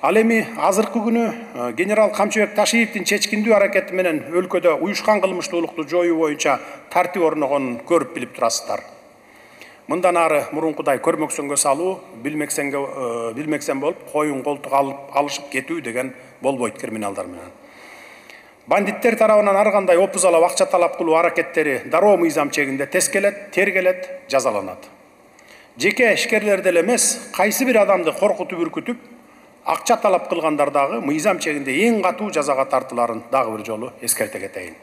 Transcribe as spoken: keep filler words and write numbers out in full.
Ал эми азыркы күнү генерал Камчыбек Ташиевдин чечкиндүү аракети менен өлкөдө уюшкан кылмыштуулукту жоюу боюнча тартип орногонун көрүп билип турасыздар. Мындан ары мурункудай көрмөксөнгө салуу, билмексенге билмексен болуп, коюн колтук алып алышып кетүү деген болбойт криминалдар менен. Бандиттер тарабынан ар кандай опузалап акча талап кылуу аракеттери дароо мыйзам чегинде тескелет, тергелет, жазаланат. Жеке ишкерлер деле эмес, кайсы бир адамды коркутуп үркүтүп, акча талап кылгандар дагы мыйзам чегинде эң катуу жазага тартыларын дагы бир жолу эскерте кетейин.